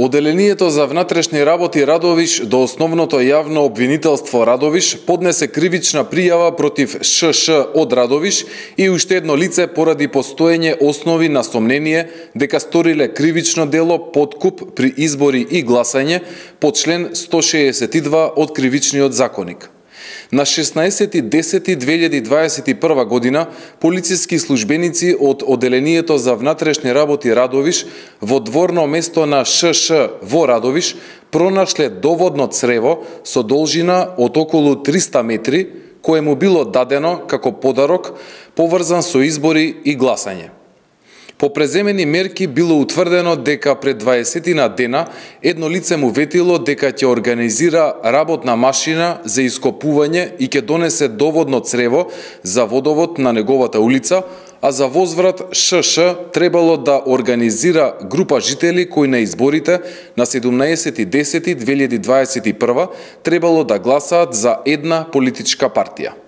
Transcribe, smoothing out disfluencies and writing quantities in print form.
Оделението за внатрешни работи Радовиш до Основното јавно обвинителство Радовиш поднесе кривична пријава против ШШ од Радовиш и уште едно лице поради постоење основи на сомнение дека сториле кривично дело подкуп при избори и гласање по член 162 од Кривичниот законник. На 16.10.2021 година полициски службеници од Оделението за внатрешни работи Радовиш во дворно место на ШШ во Радовиш пронашле доводно црево со должина од околу 300 метри, кое му било дадено како подарок поврзан со избори и гласање. По преземени мерки било утврдено дека пред 20 дена едно лице му ветило дека ќе организира работна машина за ископување и ќе донесе доводно црево за водовод на неговата улица, а за возврат ШШ требало да организира група жители кои на изборите на 17.10.2021 требало да гласаат за една политичка партија.